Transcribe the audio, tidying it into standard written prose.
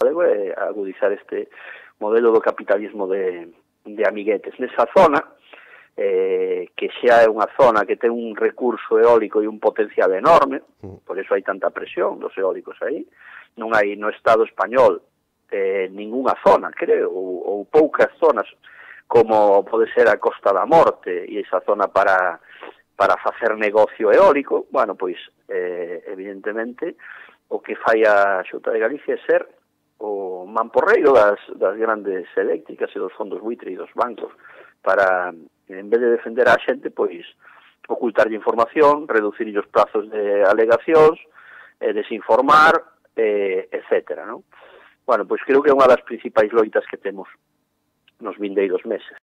é agudizar este modelo do capitalismo de amiguetes. Nesa zona, que xa é unha zona que ten un recurso eólico e un potencial enorme, por eso hai tanta presión dos eólicos aí, non hai no Estado español ninguna zona, creo, ou poucas zonas, como pode ser a Costa da Morte e esa zona para facer negocio eólico. Bueno, pois, evidentemente, o que fai a Xunta de Galicia é ser o mamporreiro das grandes eléctricas e dos fondos buitre e dos bancos para, en vez de defender a xente, pois, ocultarlle información, reducir os prazos de alegacións, desinformar, etcétera, non? Bueno, pois creo que é unha das principais loitas que temos nos vindeiros meses.